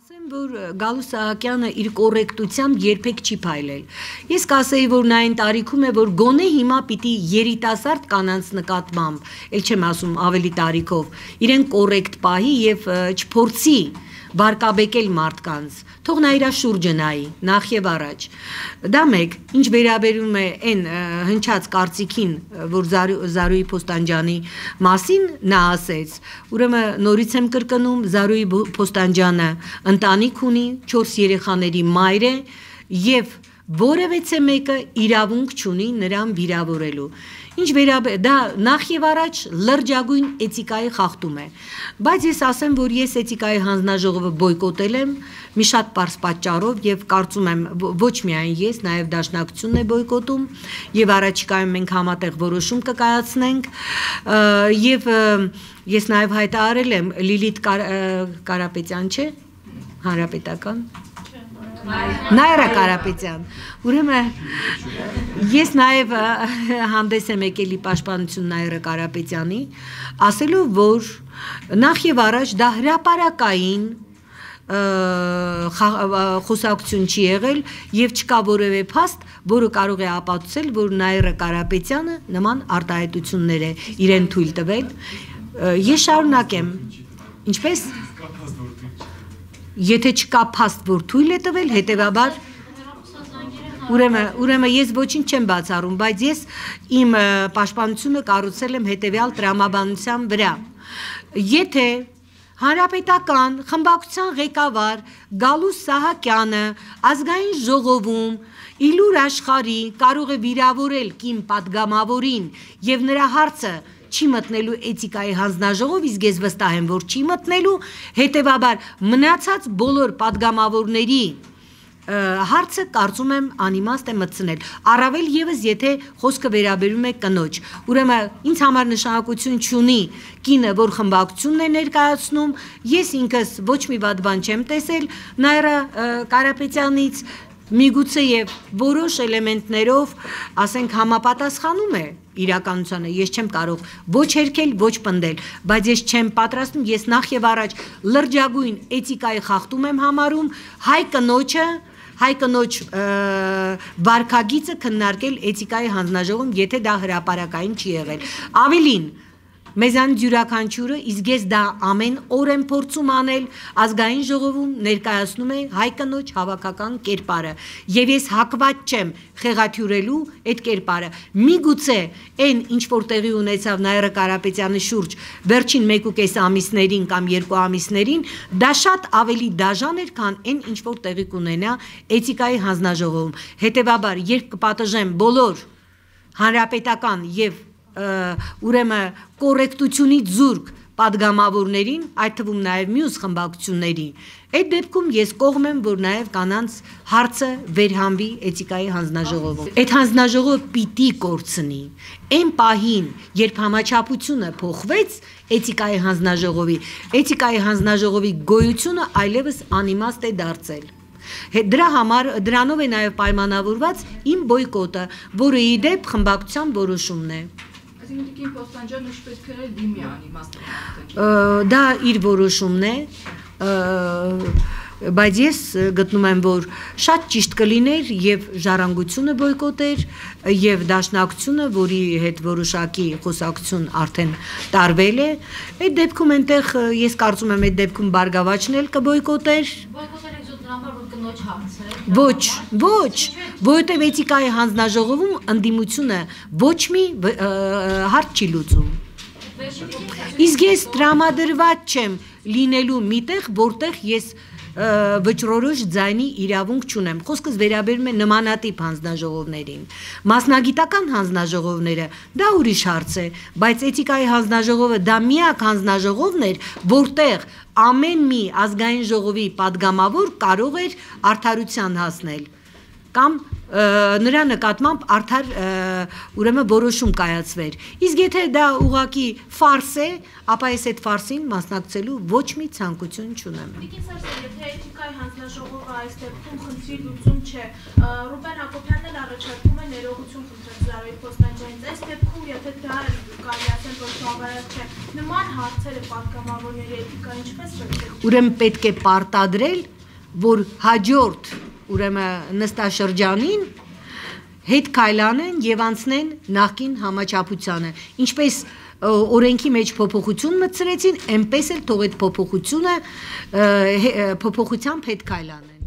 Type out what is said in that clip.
Ասեմ, որ Գալու Սահակյանը իր կոռեկտությամբ երբեք չի փայլել։ Ես կասեի, որ նա այն տարիքում է, որ գոնե հիմա պիտի երիտասարդ կանանց նկատմամբ, ել չեմ ասում ավելի տարիքով, իրեն կոռեկտ պահի եւ չփորձի վարկաբեկել մարդկանց, թող նա իր շուրջը նայի, նախ եւ առաջ։ Դա մեկ, ինչ վերաբերում է այն հնչած կարծիքին, որ Զարուհի Փոստանջյանի մասին նա ասեց, ուրեմն նորից եմ կրկնում, Զարուհի Փոստանջյանը ընտանիք ունի, 4 երեխաների մայր է եւ որևէ մեկը իրավունք չունի նրան վիրավորելու։ Ինչ վերաբերում դա նախ եւ առաջ լրջագույն էթիկայի խախտում է, բայց ես ասեմ, որ ես էթիկայի հանձնաժողովը բոյկոտել եմ մի շատ պարզ պատճառով եւ կարծում եմ ոչ միայն ես, նաեւ Դաշնակցությունն է բոյկոտում եւ առաջիկայում մենք համատեղ որոշում կկայացնենք եւ ես նաեւ հայտարարել եմ Լիլիթ Կարապետյան չէ, Հանրապետական Նայրա Կարապետյան, ուրեմն ես նաև հանդես եմ եկել Պաշտպանություն Նայրա Կարապետյանի, ասելով, որ նախ եւ առաջ դա հրապարակային խոսակցություն չի եղել եւ չկա որևէ փաստ, որը կարող է ապացուցել, որ Նայրա Կարապետյանը նման արտահայտություններ է իրեն թույլ տվել։ Ես շարունակեմ, ինչպես Եթե չկա փաստ, որ թույլ է տվել, հետևաբար ուրեմն ես ոչինչ չեմ բացառում, բայց ես իմ պաշտպանությունը կառուցել եմ հետևյալ տրամաբանության վրա։ Եթե Հանրապետական խմբակցության ղեկավար Գալու Սահակյանը ազգային ժողովում Իլուր Աշխարհի կարող է վիրավորել կին պատգամավորին եւ նրա հարցը չի մտնելու էթիկայի հանձնաժողով, իսկ ես վստահ եմ, որ չի մտնելու, հետևաբար մնացած բոլոր պատգամավորների հարցը կարծում եմ անիմաստ է մտցնել, առավել եւս եթե խոսքը վերաբերում է կնոջ, ուրեմն ինձ համար նշանակություն չունի կինը, որ խմբակցությունն է ներկայացնում, ես ինքս ոչ մի վատ բան չեմ տեսել Նայրա Կարապետյանից, միգուցե եւ որոշ էլեմենտներով, ասենք համապատասխանում է իրականությանը, ես չեմ կարող ոչ հերքել, ոչ պնդել, բայց ես չեմ պատրաստում, ես նախ եւ առաջ լրջագույն էթիկայի խախտում եմ համարում հայ կնոջ վարքագիծը քննարկել էթիկայի հանձնաժողովում, եթե դա հրապարակային չի եղել։ Ավելին Մեզանից յուրաքանչյուրը, իսկ ես դա ամեն օր եմ փորձում անել, ազգային ժողովում ներկայացնում է հայ կնոջ հավաքական կերպարը, եւ ես հակված չեմ խեղաթյուրելու այդ կերպարը։ Միգուցե այն ինչ որ տեղի ունեցավ Նայրա Կարապետյանի շուրջ վերջին 1.5 ամիսներին կամ 2 ամիսներին, դա շատ ավելի դաժան էր, քան այն ինչ որ տեղի կունենա էթիկայի հանձնաժողովում։ Հետևաբար, երբ կպատժեմ բոլոր հանրապետական եւ ուրեմն կոռեկտությունից զուրկ պատգամավորներին, այդ թվում նաև մյուս խմբակցությունների, այդ դեպքում ես կողմ եմ, որ նաև կանանց հարցը վերհանվի էթիկայի հանձնաժողովում։ Այդ հանձնաժողովը պիտի կորցնի։ Այն պահին, երբ համաչափությունը փոխվեց էթիկայի հանձնաժողովի գոյությունը այլևս անիմաստ է դարձել։ Դրանով է նաև պայմանավորված իմ բոյկոտը, որը ի դեպ խմբակցության որոշումն է։ Այսինքն Փոստանջյանը պետք է դիմի անիմաստ։ Դա իր որոշումն է, բայց ես գտնում եմ, որ շատ ճիշտ կլիներ եւ ժառանգությունը բոյկոտեր եւ Դաշնակցությունը, որի հետ որոշակի խոսակցություն արդեն տարվել է, այդ դեպքում այնտեղ ես կարծում եմ այդ դեպքում Բարգավաճն էլ կբոյկոտեր։ Ոչ, որովհետև էթիկայի հանձնաժողովում ընդդիմությունը ոչ մի հարց չի լուծում։ Իսկ ես տրամադրված չեմ լինելու միտեղ, որտեղ ես վճռորոշ ձայնի իրավունք չունեմ։ Խոսքս վերաբերում է նմանատիպ հանձնաժողովներին։ Մասնագիտական հանձնաժողովները դա ուրիշ հարց է, բայց էթիկայի հանձնաժողովը դա միակ հանձնաժողովն էր, որտեղ ամեն մի ազգային ժողովի պատգամավոր կարող էր արդարության հասնել կամ նրա նկատմամբ արդար ուրեմն որոշում կայացվեր։ Իսկ եթե դա ուղղակի ֆարս է, ապա ես այդ ֆարսին մասնակցելու ոչ մի ցանկություն չունեմ։ Եթե էթիկայի հանձնաժողովը այս դեպքում խնդրի լուծում չէ, Ռուբեն Հակոբյանն էլ առաջարկում է ներողություն խնդրել Զարուհի Փոստանջյանից։ Այս դեպքում եթե դա կարելի ասել, որ բավարար չէ, նման հարցերը պատգամավորների էթիկա ինչպես պետք է։ Ուրեմն պետք է պարտադրել որ հաջորդ ուրեմն նստաշրջանին հետ քայլանեն եւ անցնեն նախկին համաչափությանը, ինչպես օրենքի մեջ փոփոխություն մտցրեցին, այնպես էլ թող այդ փոփոխությունը փոփոխությամբ հետ քայլանեն